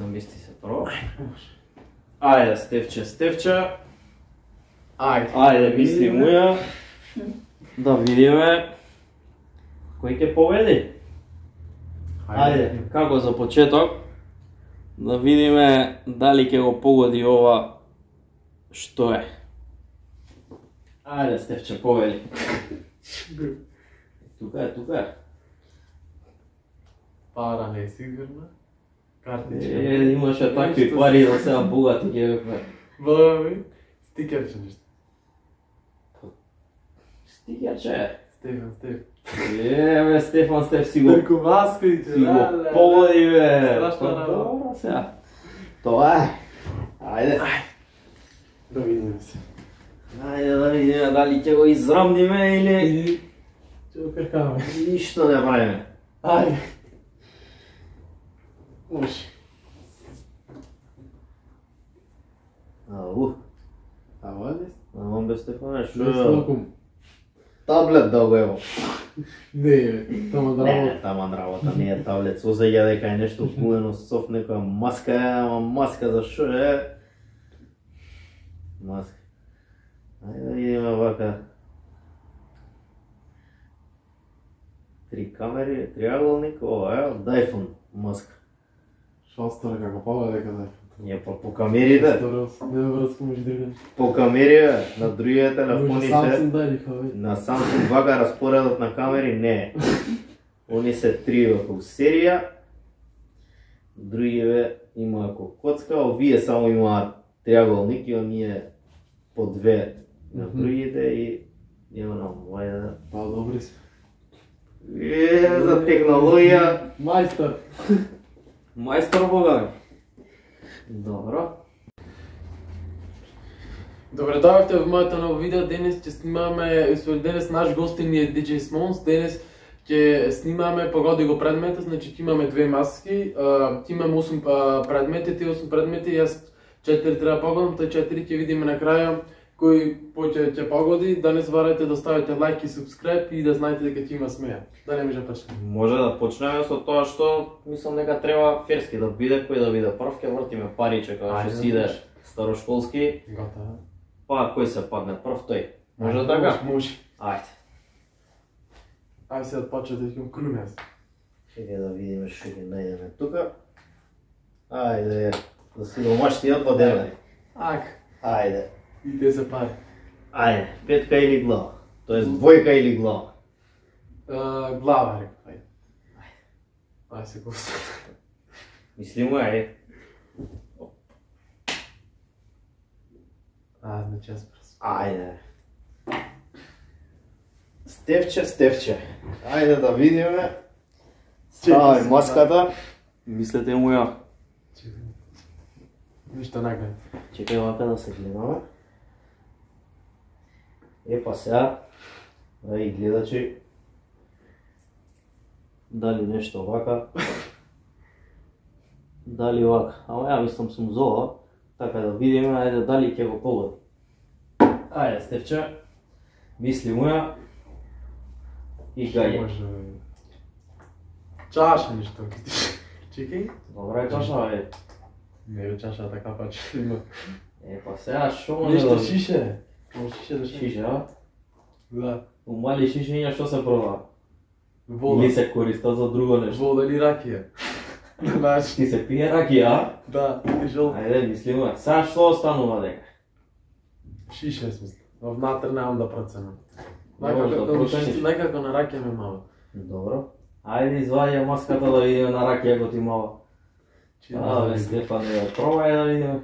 Намести се прво. Ајде, Стефче. Ајде, мисли муја. Да видиме кој ќе победи. Ајде, како за почеток, да видиме дали ќе го погоди ова што е. Ајде, Стефче, победи. Тука е. Пара не е сигурна. Картичка. Имаше такви пари да сега богати ќе бе. Бога ми, стикерче нешто. Стикерче. Стефан. Стефан, си го... Преку маските, Си го погоди, бе. Страшна работа. Добро сега. Тоа е. Ајде. Да видиме се. Ајде да видиме дали ќе го израмниме или... Ќе го кркаме. Ништо не правиме. Ајде. Може. Ау. Ава ли? Амон бе Стефане, шо Не е? слаком. Таблет да го ево. Не, бе, тама да работа. Не, таман работа не е таблет. Созеѓа дека е нешто куено соф, некоја маска е, ама маска за шо е? Маска. Ајде да видиме вака. 3 камери, триаголник, ова е од iPhone маска. Шо стара како пава дека да е. Ние по камерите, Не врска може да видиш. по камерите на другите телефоните. Samsung дај бе. На Samsung вака распоредот на камери не е. Они се 3 во серија, другиве има како коцка, овие само имаат триаголник и оние по 2 на другите и има на овајде. Па добри се. За технологија. Мајстор. Мајстор бога. Добро. Добре дојавте во моето ново видео. Денес ќе снимаме, денес наш гостин е DJ Smons. Денес ќе снимаме, погоди го предметот, значи ќе имаме 2 маски, ќе имаме 8 предмети, тие 8 предмети, јас 4 треба погодам, тој 4 ќе видиме на крај кој ќе погоди. Да не заборавајте да ставите лайк и subscribe и да знаете дека ќе има смеја. Да не може почнеме. Може да почнеме со тоа што мислам дека треба ферски да биде, кој да биде прв, ќе вртиме париче кога што си идеш старошколски. Готово. Па кој се падне прв тој. Може така? Може. Ајде. Ајде се да почне да ќе крунес. Чекај да видиме што ќе најдеме тука. Ајде, да си го маштијат по денari. Ајде. И те се пари. Ајде, петка или глава? Тоест двојка или глава? Глава, рекај. Ајде се го остави. Мислимо е. Значи јас прс. Ајде. Стефче. Ајде да видиме. Ставај маската. Мислете му ја. Ништо не гледам. Чекај вака да се гледаме. Епа сега, и гледачи, дали нешто вака, дали вака. Ама ја мислам сум зова, така да видиме, ајде дали ќе го погоди. Ајде Стефче, мисли муја и гаје. Чаша ништо. Чекај. Добра е чаша, ајде. Не е чаша така паче има. Епа сега шо може Ништо да... шише. Може шише да шише. Шише, а? Да. У мали шишења што се продава? Вода. Или се користат за друго нешто? Вода или ракија. Значи. Ти се пие ракија, а? Да, ти жол. Ајде, мислимо. Сега што останува дека? Шише смисла. Внатре немам да проценам. Можеш да процениш. Некако на ракија ме мало. Добро. Ајде извади маската да видиме на ракија ако ти мала. Бе, Стефан, пробај да видиме.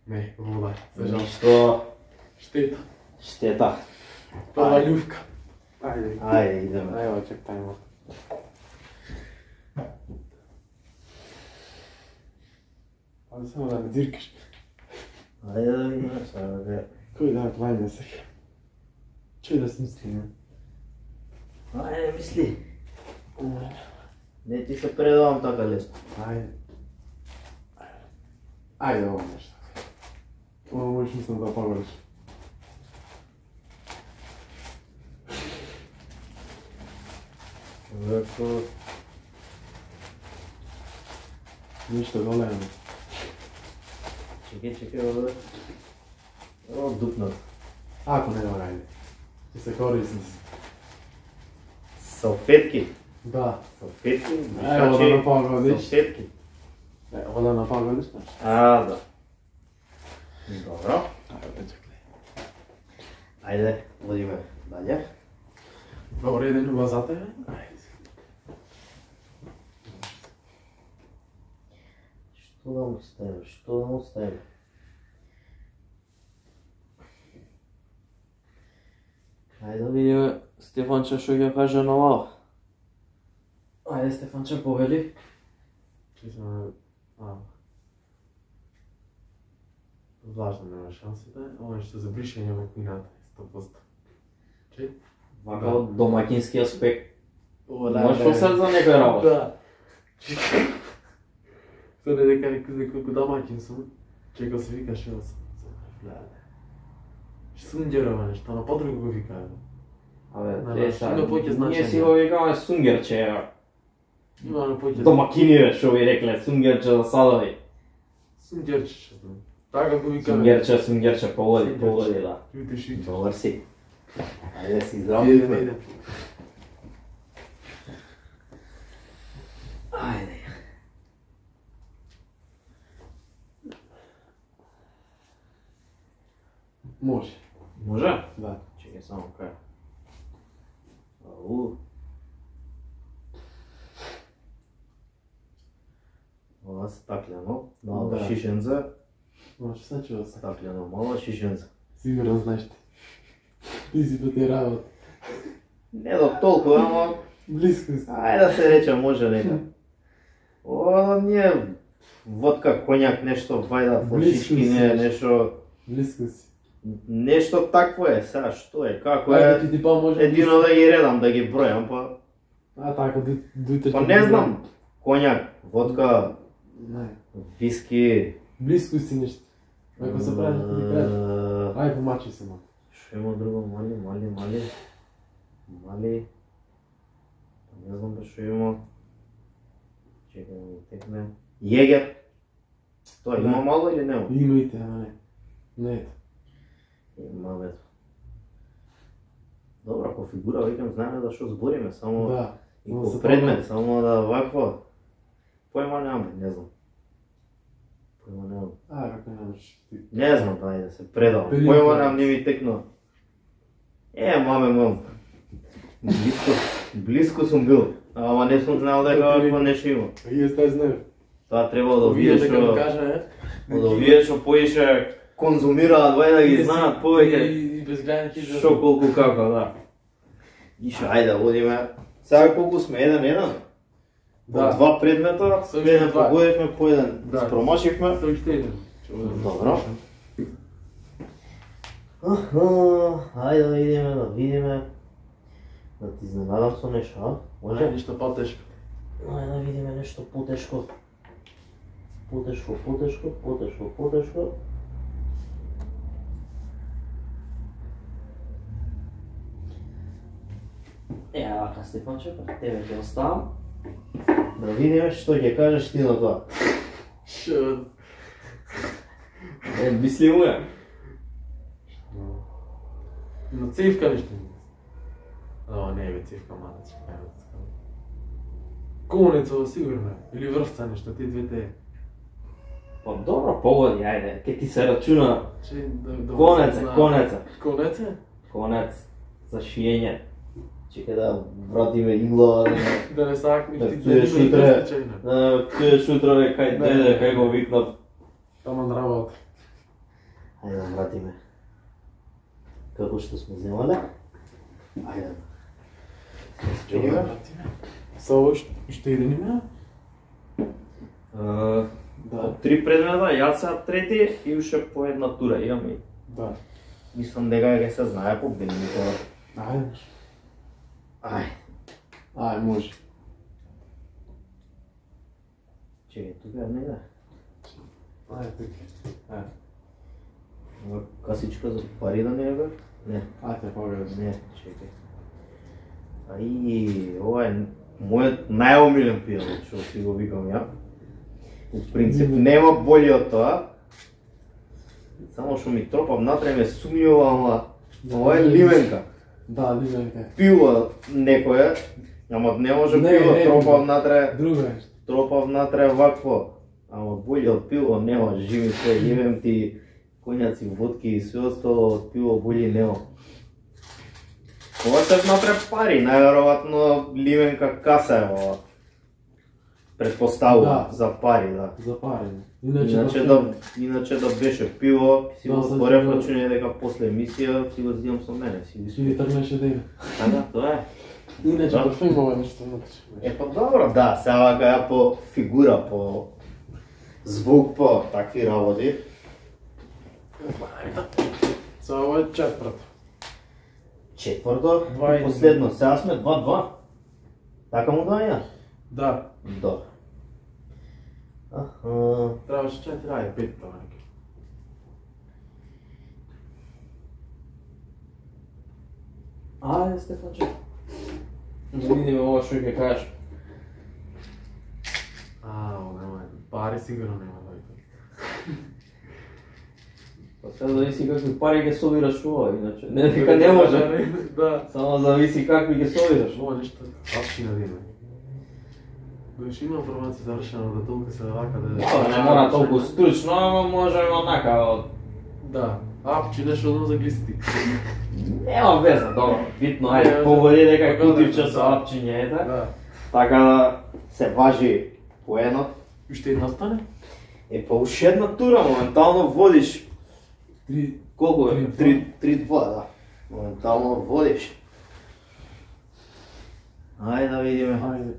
Не, вода. За жал. Што? Штета. Штета. Прва љувка. Ајде. Ајде, идеме. Ајде, чек тајмо. Ајде само да не дзиркаш. Ајде да видиме сега бе. Кој да кланя сега? Чој да смислиме? Ајде, мисли. Не ти се предавам така лесно. Ајде. Ајде, ово нешто. Ово можеш мислам да погодиш. Вако... Ништо големо. Чекай, овде. О, дупнат. Ако не го најде. Ќе се корисни. Салфетки. Да. Салфетки, Ево да напагодиш. салфетки. Ево да напагодиш. Да. Добро. Ајде, одиме далje. Добро, еден у базата е. Што да му ставим? Ајде да видиме Стефанче што ќе каже на ова. Ајде Стефанче, повели. Важно нема шансите, ова што за бришење во кујната, 100%. Че? Вака од домакински аспект. Да, Можеш посед за некој работа. Да. Тоа не дека некој колку домакин сум, чека се вика шо сум. Сунгерова нешто, на подруго го викаат. Абе, има поќе значење. ние си го викаме сунгерче. Има на поќе. Домакиниве што ви рекле, сунгерче за садови. Сунгерче што знам. Така го викаме. Сунгерче, поводи, да. Видиш и. Добар си. Ајде си Идеме, здравиме. идеме. Ајде. Може. Може? Да. Чекай само кај. Ау. Ова стаклено, мало Да. шишенце, Може, се чува се. стаклено, мало шишенце. Сигурно знаеш ти. Ти си по тие работи. Не до толку, ама Близко си. ајде да се рече може нека. О, ние водка, коњак, нешто вајда, флашички, Близко не, си. нешто, Близко си. нешто такво е, сега што е, како Ајде е, ти ти па може. едино да ги редам, да ги бројам, па, А така, дујте. па не знам, коњак, водка, Не. виски, Близко си нешто. Ако се прави, ти кажеш. Ајде помачи се ма. Што има друго, мали, не знам да што има, чекай да ми текне, Јегер, тоа има мало или нема? Имајте, ама не. Не ето. Има бе. Добра, ако фигура, викам, знаеме за што збориме, само Да. и само по се предмет, само да вакво, појма немам, не знам. Појма немам. Како немаш ти. Не знам, дај да се предавам. Пелин Појма корец. немам, не ми текно. Маме мом. Близко сум бил, ама не сум знаел дека вакво нешто има. Јас не знам. Тоа требало да видиш дека ми што, кажа, од овие што поише конзумираат, вај да ги знаат повеќе. И без гледање ќе Што колку како, да. Иша, ајде, одиме. Сега колку сме, 1-1? По Да. два предмета, Со еден два. погодивме, по еден Да. спромашивме. Со уште еден. Добро. Ајде да идеме, да видиме. Да ти изненадам со нешто, а? Може Може? нешто потешко. Ајде да видиме нешто потешко. Потешко. Вака Стефанче, пред тебе ќе оставам. Да видиме што ќе кажеш ти на тоа. Шо? Мисли му ја. На цивка нешто. О, не бе, цивка малец. Конеца, сигурно. Или врвца нешто, тие двете. Па добро, погоди, ајде, ке ти се рачуна. Че да Конеца. Конец за шиење. Чекај да вратиме игла, Да не сакнеш да ти пиеш да утре, случајно. да пиеш утре кај деде, кај го викнав. Таман работа. Ајде да вратиме. Како што сме земале. Ајде. Чекај. Со ово што еден има? Да. Три предмета, јас сега трети и уште по една тура имаме. Да. Мислам дека ќе се знае победникот. Ајде. Ај, Може. чекај, тука е нега. Ајде, така. Касичка за пари да не е бе? Не, Ајде, погledaj. не, чекај. Ај, ова е мојот најомилен пијалот, што си го викам ја. У принцип нема боље од тоа. Само што ми тропа внатре ме сумњува, ама ова е ливенка. Да, ливенка. Пиво некое, ама не може пиво тропа внатре. Друго е. Тропа внатре вакво. Ама боље од пиво нема, живи се, јевем ти коњаци, водки и све остало, од пиво боље нема. Ова се внатре пари, најверојатно ливенка каса е ова. Предпоставувам за пари, да. За пари. Иначе да беше пиво, си го отворев да. рачуње дека после емисија си го зидам со мене, си го Си ни тргнеше да има. да, тоа е. Иначе Да. баш има ова нешто внатре. Па добро, да, сега вака ја по фигура, по звук, по такви работи. За ова е четврто. Четврто, Два и последно, сега сме 2-2. Така му доаѓа? Да. Добро. Аха. Требаше 4, ајде 5 тоа. Ајде, Стефанче. Да видиме ова што ќе кажеш. Нема. Пари сигурно нема дојде. Па сега зависи какви пари ќе собираш ова, иначе не дека не може. Да. Само зависи какви ќе собираш. Ова нешто апшина да има. Беше има информација завршена да толку се вака да... Да, не мора толку стручно, ама може онака од... Да. Апчи нешто одно за глисти. Нема веза, добро. Битно, ајде, поводи дека кутивче со апчиње, ете. Да. Така да се важи поенот. Уште една остане? Па уште една тура, моментално водиш. 3. Колку е? 3-2. 3-2, да. Моментално водиш. Ајде да видиме. Ајде.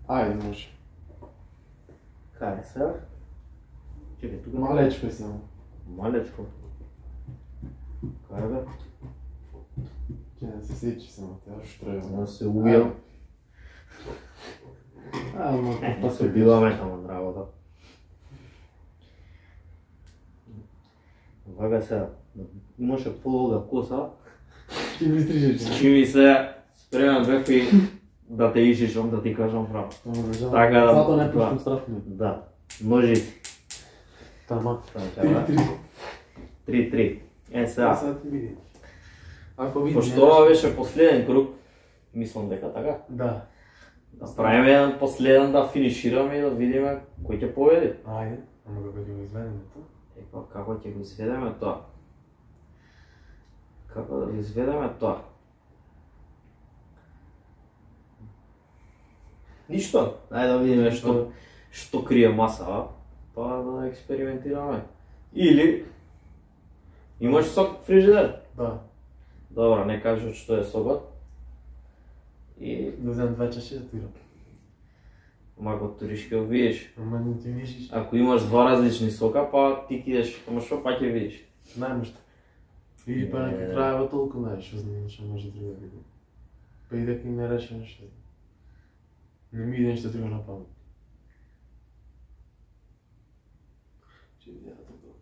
Ајде, може. Кај е сега? Чекај, тука Малечко е само. Малечко. Кај бе? Ќе не се сечи само, те аш треба. Да се ујам. Ама, Па се биваме тамо од работа. Вака сега, имаше полога коса, Ќе ми стрижеш. чи ми се спремен бев и да те ишишам, да ти кажам право. Така да- Зато не пуштам страфно. Да, ножици. Тама. 3-3. 3-3. Сега, Сега ти види. Ако види. пошто ова беше последен круг, мислам дека така. Да. Да правиме еден последен, да финишираме и да видиме кој ќе победи. Ајде. Ама како ќе го изведеме тоа? Па како ќе го изведеме тоа? Како да го изведеме тоа? Ништо. Ајде да видиме што крие маса, па да експериментираме. Или имаш сок фрижидер? Да. Добро, не кажеш што е сокот. И Да вземам 2 чаши да тирам. мако туриш ќе го видиш. Ама не ти вижиш. Ако имаш два различни сока, па ти кидеш, ама што па ќе видиш. Најмаш така. Или па на крајава толку знаеш, што знаеш, што може друго да биде. Па и дека и не решам што. Не ми иде нешто друго на памет. Че видеа тоа.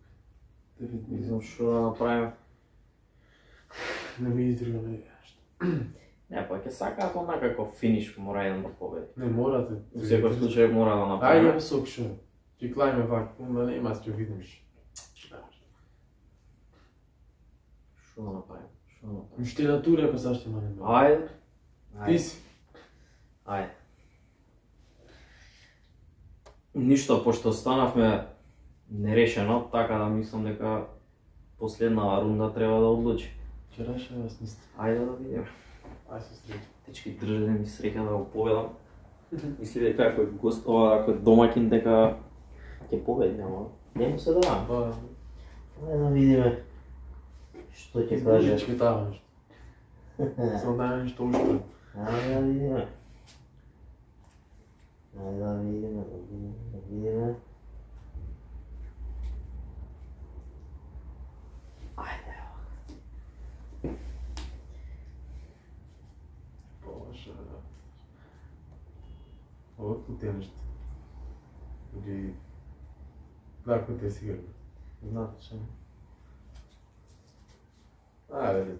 Да Не видим. знам што да направиме. Не ми иде друго на нешто. Не, па ќе сакаат онака како финиш, мора еден да победи. Не мора да. Во секој случај мора да Ајде направиме. сок шо. Ќе клајме вак, ама нема ќе видим што. Што да направиме? Што да направиме? Уште на тура ако сашто има нема. Ајде. Ти си. Ајде. Ништо, пошто останавме нерешено, така да мислам дека последна рунда треба да одлучи. Ќе решам јас мислам. Ајде да видиме. Ај се среќа. Дечки, држи да ми среќа да го победам. Мисли дека ако е гост, ако е домаќин дека ќе победи, ама не му се давам. Ба, Ајде да видиме што ќе каже. Ќе тава нешто. Само да нешто уште. Ајде да видиме. Ајде да видиме, да видиме. Ајде. Боже. Ова кутија нешто. Или... Да, кутија сигурно. Знаат што. Ајде.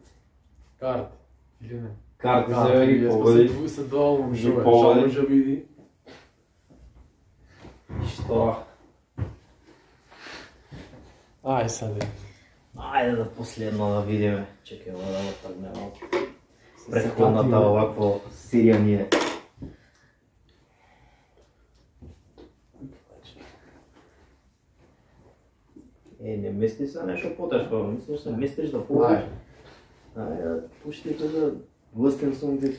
Карти. Или не? Карти се ги победи. Се доволно Ги шо е. победи. Шо може види. готова. Ај саде. Ајде да последно да видиме. Чекај, ова да го тргне малку. Претходната овакво сиријање. Не мисли се нешто потешко, мислиш се мислиш да попуш. Ајде, пушти да гостен сум ти.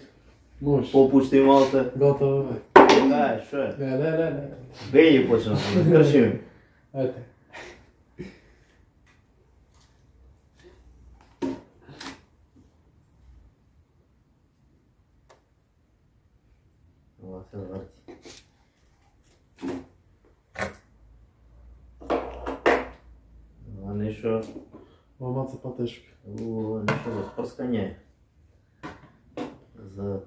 Може. Попушти малце. Готово бе. Ај, шо е? Не. Беји почна, крши ми. Ете. Ова се врти. Ова нешто... Ова маца потешко. Ова нешто за прскање. За...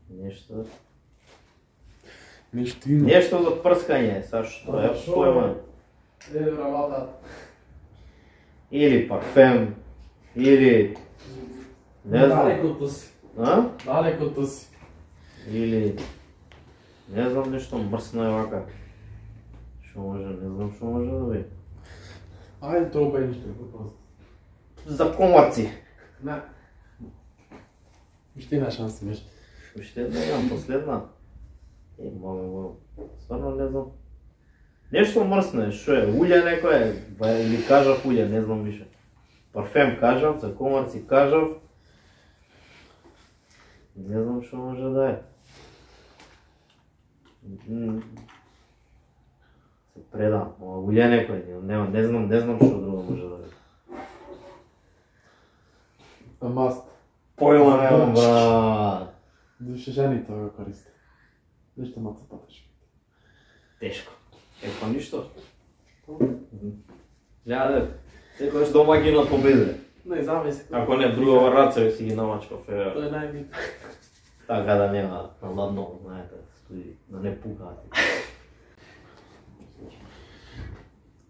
Нешто... Нешто има. Нешто за прскање, са што е појма. Еле работа. Или парфем, или... Не знам. Далекото си. А? Далекото си. Или... Не знам нешто мрсно е вака. Шо може, не знам шо може да биде. Ајде тоа бе ништо просто. За комарци. Не. Уште една шанса беше. Уште една имам последна. Мамо, стварно не знам. Нешто мрсно е, шо е? Улје некој е? Или кажав улје, не знам више. Парфем кажав, за комарци кажав. Не знам шо може да е. Се предам, улје некој, не знам шо друго може да е. Маст. Појма немам, брат. Душе жените го користи. Нешто маца потешко. Тешко. Па ништо. Гледа, секојаш домаќинот победе. Не, замисли. Ако не другава рацеви си ги намачкав, Тоа е најбитно. така да нема на ладно, знаете, студи, да не пукаат.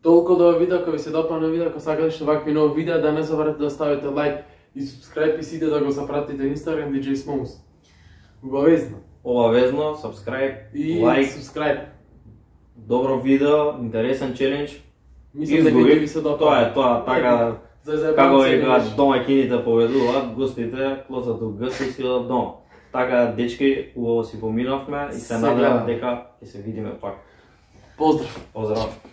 Толку до овој видео, ако ви се допадна видео, ако сакате што вакви нови видеа, да не забравете да ставите лайк и subscribe и сите да го запратите на Instagram DJ Smons. Обавезно. Обавезно, subscribe, И лайк, subscribe. добро видео, интересен челендж. Мислам дека ќе ви се допадне. Тоа, така, За како заебанци века беше. домаќините поведуваат, гостите клосат гости си од дома. Така, дечки, убаво си поминавме и се Сега. надевам дека ќе се видиме пак. Поздрав. Поздрав!